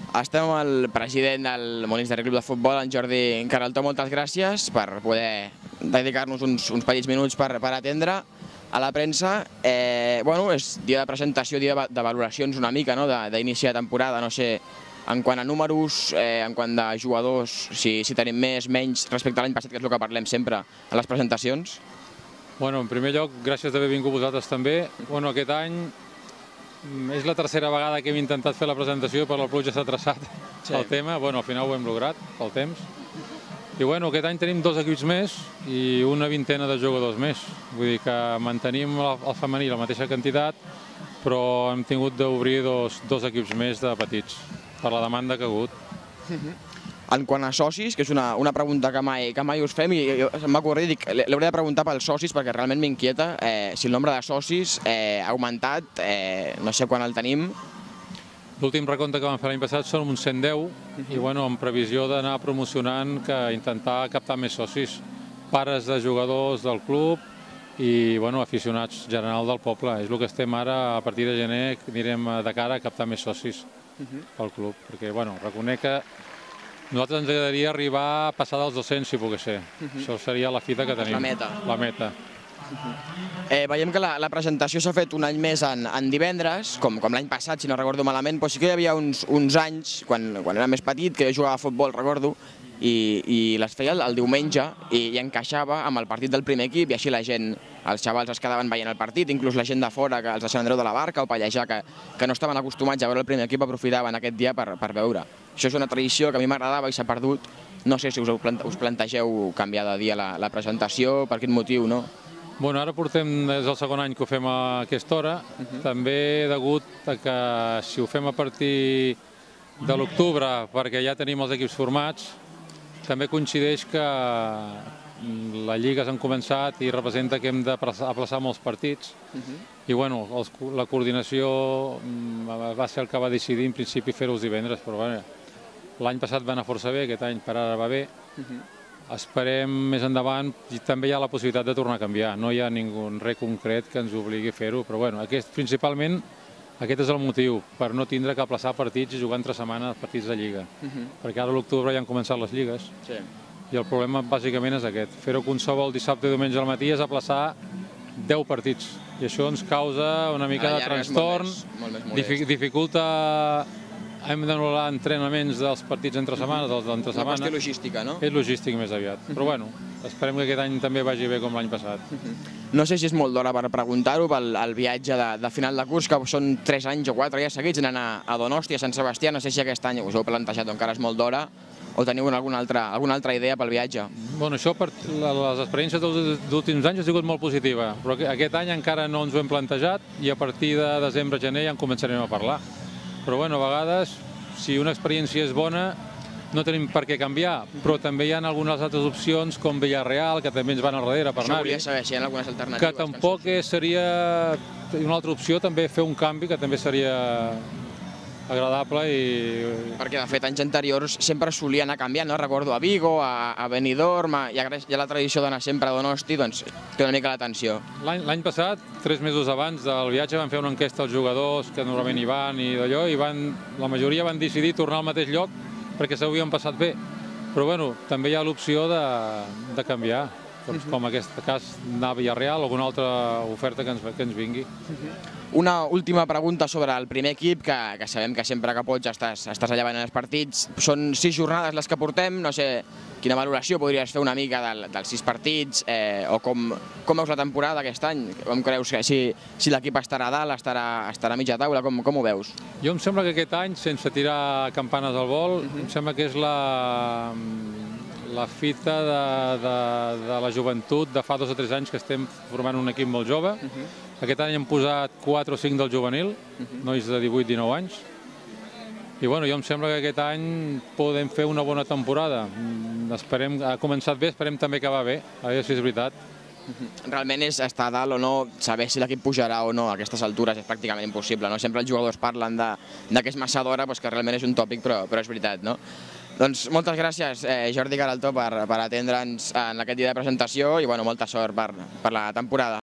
Estem amb el president del Molins de Rei Club de Futbol, en Jordi Caraltó. Moltes gràcies per poder dedicar-nos uns petits minuts per atendre a la premsa. És dia de presentació, dia de valoracions una mica d'inici de temporada. No sé, en quant a números, en quant de jugadors, si tenim més, menys, respecte a l'any passat, que és el que parlem sempre a les presentacions. En primer lloc, gràcies d'haver vingut vosaltres també. Aquest any és la tercera vegada que hem intentat fer la presentació, però la pluja s'ha traçat el tema. Al final ho hem lograt, pel temps. I aquest any tenim 2 equips més i una vintena de jugadors més. Vull dir que mantenim el femení la mateixa quantitat, però hem tingut d'obrir dos equips més de petits, per la demanda que ha hagut. En quant a socis, que és una pregunta que mai us fem, i em va ocorrir, dic, l'hauré de preguntar pels socis perquè realment m'inquieta si el nombre de socis ha augmentat, no sé quan el tenim. L'últim recompte que vam fer l'any passat són uns 110 i amb previsió d'anar promocionant, que intentar captar més socis, pares de jugadors del club i aficionats general del poble. És el que estem ara, a partir de gener anirem de cara a captar més socis pel club, perquè reconec que a nosaltres ens agradaria arribar a passar dels 200, si pogués ser. Això seria la fita que tenim. La meta. Veiem que la presentació s'ha fet un any més en divendres, com l'any passat, si no recordo malament, però sí que hi havia uns anys, quan era més petit, que jo jugava a futbol, recordo, i les feia el diumenge i encaixava amb el partit del primer equip, i així la gent, els xavals es quedaven veient el partit, inclús la gent de fora, els de Sant Andreu de la Barca o Pallejà, que no estaven acostumats a veure el primer equip, aprofitaven aquest dia per veure. Això és una tradició que a mi m'agradava i s'ha perdut. No sé si us plantegeu canviar de dia la presentació, per quin motiu, no? Ara portem des del segon any que ho fem a aquesta hora, també degut a que si ho fem a partir de l'octubre, perquè ja tenim els equips formats, també coincideix que les lligues han començat i representa que hem d'aplaçar molts partits i la coordinació va ser el que va decidir en principi fer-ho els divendres, però l'any passat va anar força bé, aquest any per ara va bé. Esperem més endavant, i també hi ha la possibilitat de tornar a canviar, no hi ha res concret que ens obligui a fer-ho, però principalment aquest és el motiu, per no tindre que aplaçar partits i jugar entre setmana partits de Lliga, perquè ara a l'octubre ja han començat les lligues i el problema bàsicament és aquest, fer-ho qualsevol dissabte i diumenge al matí és aplaçar 10 partits i això ens causa una mica de trastorn, dificulta. Hem d'anul·lar entrenaments dels partits entre setmanes, dels d'entre setmana. Una qüestió logística, no? És logístic més aviat, però esperem que aquest any també vagi bé com l'any passat. No sé si és molt d'hora per preguntar-ho pel viatge de final de curs, que són 3 anys o 4 ja seguits anant a Donosti, a Sant Sebastià. No sé si aquest any us heu plantejat o encara és molt d'hora, o teniu alguna altra idea pel viatge? Això, les experiències dels últims anys ha sigut molt positiva, però aquest any encara no ens ho hem plantejat i a partir de desembre-gener ja en començarem a parlar. Però a vegades, si una experiència és bona, no tenim per què canviar, però també hi ha algunes altres opcions, com Villarreal, que també ens van al darrere per anar-hi. Això volia saber si hi ha algunes alternatives. Que tampoc seria una altra opció, també fer un canvi, que també seria agradable. Perquè, de fet, anys anteriors sempre solia anar canviant, no? Recordo a Vigo, a Benidorm, hi ha la tradició d'anar sempre a Donosti, doncs té una mica l'atenció. L'any passat, 3 mesos abans del viatge, van fer una enquesta als jugadors, que normalment hi van i d'allò, i la majoria van decidir tornar al mateix lloc perquè s'ho havien passat bé. Però també hi ha l'opció de canviar, com en aquest cas anar a Villarreal o alguna altra oferta que ens vingui. Una última pregunta sobre el primer equip, que sabem que sempre que pots estàs allà veient els partits. Són 6 jornades les que portem, no sé quina valoració podries fer una mica dels 6 partits, o com veus la temporada aquest any? Com creus que si l'equip estarà a dalt, estarà a mitja taula, com ho veus? Jo em sembla que aquest any, sense tirar campanes al vol, em sembla que és la fita de la joventut de fa 2 o 3 anys que estem formant un equip molt jove. Aquest any hem posat 4 o 5 del juvenil, nois de 18-19 anys. I jo em sembla que aquest any podem fer una bona temporada. Ha començat bé, esperem també acabar bé, a veure si és veritat. Realment és estar a dalt o no, saber si l'equip pujarà o no a aquestes altures és pràcticament impossible. Sempre els jugadors parlen que és massa d'hora, que realment és un tòpic, però és veritat, no? Doncs moltes gràcies, Jordi Caraltó, per atendre'ns en aquest dia de presentació i molta sort per la temporada.